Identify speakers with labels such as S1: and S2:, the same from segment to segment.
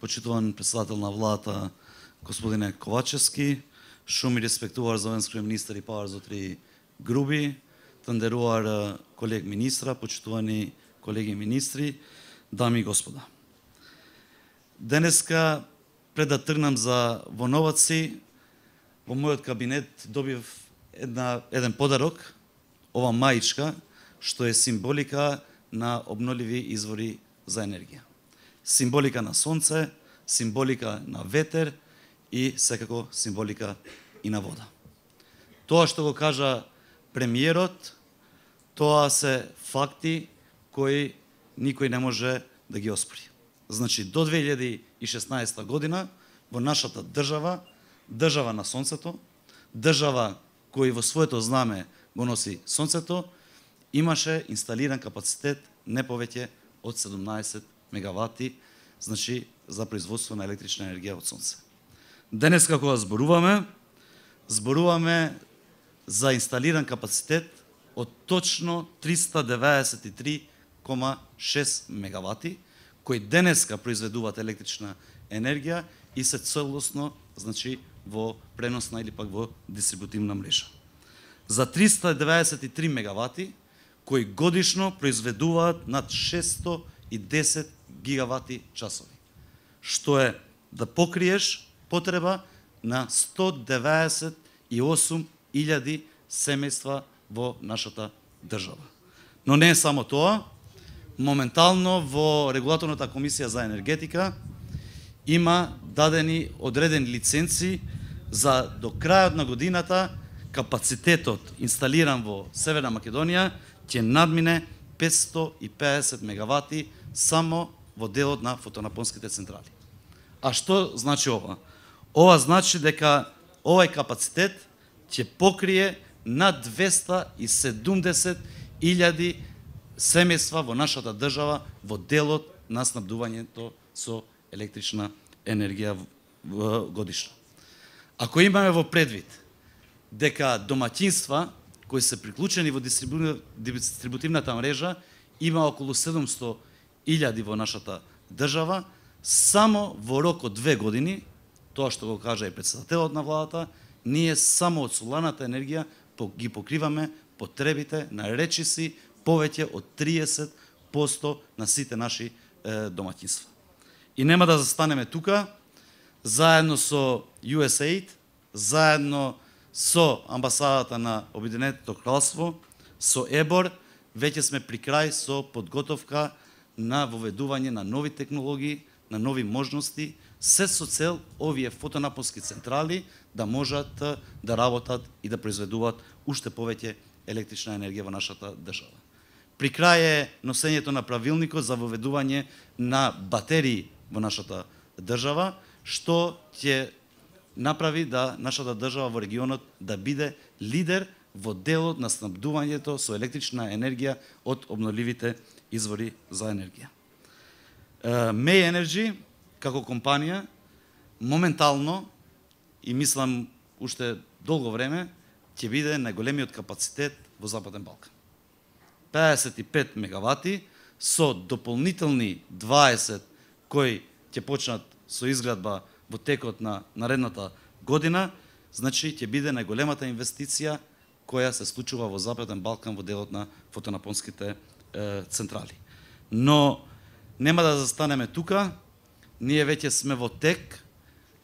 S1: почитуван председател на владата господине Ковачевски, шум и респектувар за венскиот министер и павар за три груби, тандеруар колег министра, почитувани колеги министри, дами и господа. Денеска, пред да тргнам за Воноваци, во мојот кабинет добив еден подарок, ова маичка, што е символика на обновливи извори за енергија. Символика на сонце, символика на ветер и секако символика и на вода. Тоа што го кажа премиерот, тоа се факти кои никој не може да ги оспори. Значи, до 2016 година во нашата држава, држава на сонцето, држава кој во своето знаме го носи сонцето, имаше инсталиран капацитет не повеќе од 17 мегавати, значи за производство на електрична енергија од сонце. Денес кога зборуваме за инсталиран капацитет од точно 393,6 мегавати, кои денеска произведуваат електрична енергија и се целосно, значи, во преносна или пак во дистрибутивна мрежа. За 393 мегавати, кои годишно произведуваат над 610 гигавати часови, што е да покриеш потреба на 198.000 семејства во нашата држава. Но не е само тоа, моментално во Регулаторната комисија за енергетика има дадени одредени лиценци за до крајот на годината капацитетот инсталиран во Северна Македонија ќе надмине 550 мегавати само во делот на фотонапонските централи. А што значи ова? Ова значи дека овај капацитет ќе покрие над 270.000 семејства во нашата држава во делот на снабдувањето со електрична енергија годишно. Ако имаме во предвид дека домаќинства кои се приклучени во дистрибутивната мрежа има околу 700.000 во нашата држава, само во рок од 2 години, тоа што го кажа и председателот на владата, ние само од соларната енергија ги покриваме потребите на речиси повеќе од 30% на сите наши домаќинства. И нема да застанеме тука, заедно со USAID, заедно со амбасадата на Обединетото кралство, со ЕБОР, веќе сме при крај со подготовка на воведување на нови технологии, на нови можности, се со цел овие фотонапонски централи да можат да работат и да произведуваат уште повеќе електрична енергија во нашата држава. При крај е носењето на правилникот за воведување на батерии во нашата држава, што ќе направи да нашата држава во регионот да биде лидер во делот на снабдувањето со електрична енергија од обновливите извори за енергија. May Energy, како компанија, моментално, и мислам уште долго време, ќе биде најголемиот капацитет во Западен Балкан. 55 мегавати со дополнителни 20 кои ќе почнат со изградба во текот на наредната година, значи ќе биде најголемата инвестиција која се случува во Западен Балкан во делот на фотонапонските централи. Но нема да застанеме тука, ние веќе сме во тек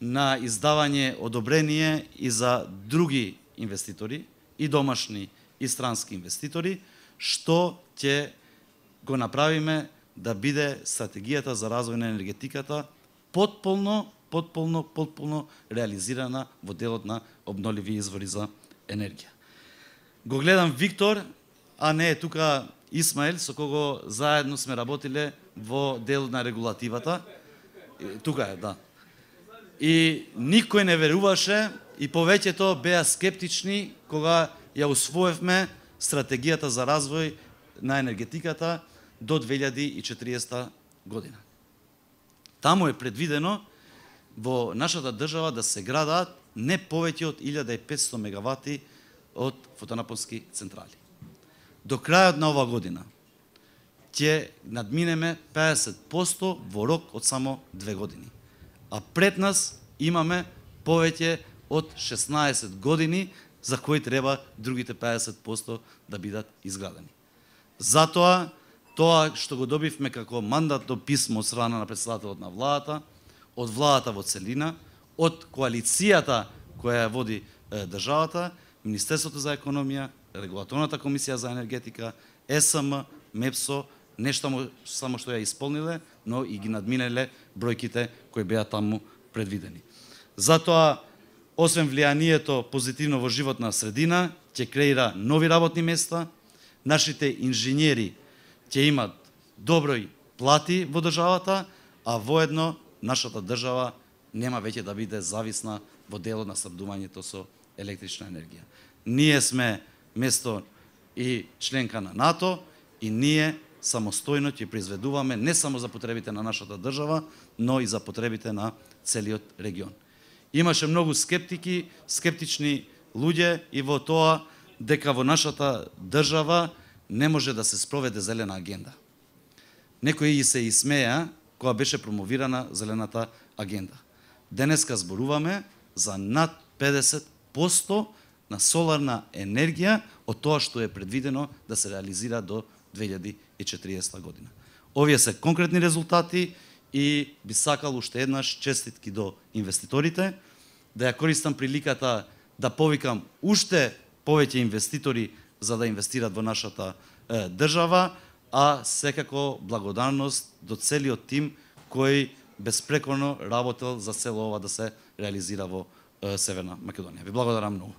S1: на издавање одобрение и за други инвеститори, и домашни и странски инвеститори, што ќе го направиме да биде стратегијата за развој на енергетиката потполно реализирана во делот на обновливи извори за енергија. Го гледам Виктор, а не е тука Исмаел, со кого заедно сме работиле во делот на регулативата. Тука е, да. И никој не веруваше и повеќето беа скептични кога ја усвоевме стратегијата за развој на енергетиката до 2040 година. Таму е предвидено во нашата држава да се градаат не повеќе од 1500 мегавати од фотонапонски централи. До крајот на оваа година ќе надминеме 50% во рок од само 2 години. а пред нас имаме повеќе од 16 години за кои треба другите 50% да бидат изградени. Затоа, тоа што го добивме како мандатно писмо од страна на председателот на владата, од владата во целина, од коалицијата која ја води државата, Министерството за економија, Регулаторната комисија за енергетика, ЕСМ, МЕПСО, нешто само што ја исполниле, но и ги надминеле бројките кои беа таму предвидени. Затоа, освен влијанието позитивно во животна средина, ќе креира нови работни места, нашите инженери ќе имат доброј плати во државата, а воедно нашата држава нема веќе да биде зависна во делот на снабдувањето со електрична енергија. Ние сме место и членка на НАТО и ние самостојно ќе произведуваме не само за потребите на нашата држава, но и за потребите на целиот регион. Имаше многу скептични луѓе и во тоа дека во нашата држава не може да се спроведе зелена агенда. Некои се исмеа кога беше промовирана зелената агенда. Денеска зборуваме за над 50% на соларна енергија од тоа што е предвидено да се реализира до 2040 година. Овие се конкретни резултати и би сакал уште еднаш честитки до инвеститорите, да ја користам приликата да повикам уште повеќе инвеститори за да инвестират во нашата држава, а секако благодарност до целиот тим кој безпрекорно работел за цело ова да се реализира во Северна Македонија. Ви благодарам многу.